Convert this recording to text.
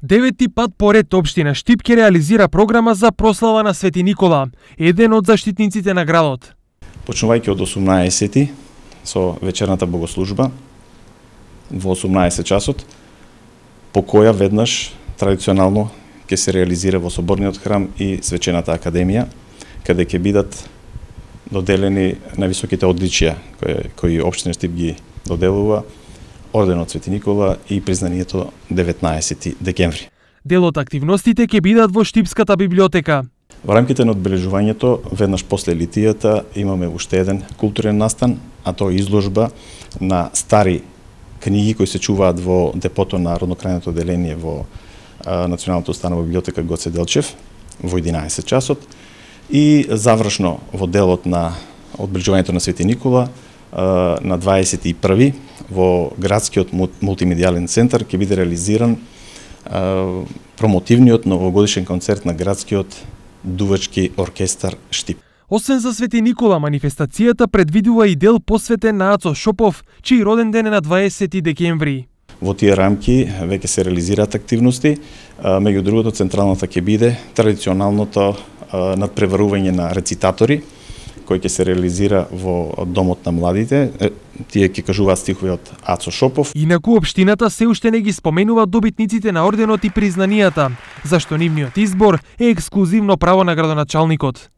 Девети пат поред општина Штип ќе реализира програма за прослава на Свети Никола, еден од заштитниците на градот. Почнувајќи од 18 со вечерната богослужба во 18 часот, по која веднаш традиционално ќе се реализира во Соборниот храм и Свечената академија, каде ќе бидат доделени највисоките одличија кои општина Штип ги доделува, орденот Свети Никола и признанието 19 декември. Дел од активностите ќе бидат во Штипската библиотека. Во рамките на одбележувањето, веднаш после литијата, имаме уште еден културен настан, а тоа е изложба на стари книги кои се чуваат во депото на роднокрајното оделение во Националната установа библиотека Гоце Делчев во 11 часот и завршно во делот на одбележувањето на Свети Никола на 21 во градскиот мултимедијален центар ќе биде реализиран промотивниот новогодишен концерт на градскиот дувачки оркестар Штип. Освен за Свети Никола, манифестацијата предвидува и дел посветен на Ацо Шопов, чиј роден ден е на 20 декември. Во тие рамки веќе се реализираат активности, меѓу другото централната ќе биде традиционалното надпреварување на рецитатори, кој ќе се реализира во Домот на младите. Тие ќе кажуваат стихови од Ацо Шопов. Инаку општината се уште не ги споменува добитниците на орденот и признанијата, зашто нивниот избор е ексклузивно право на градоначалникот.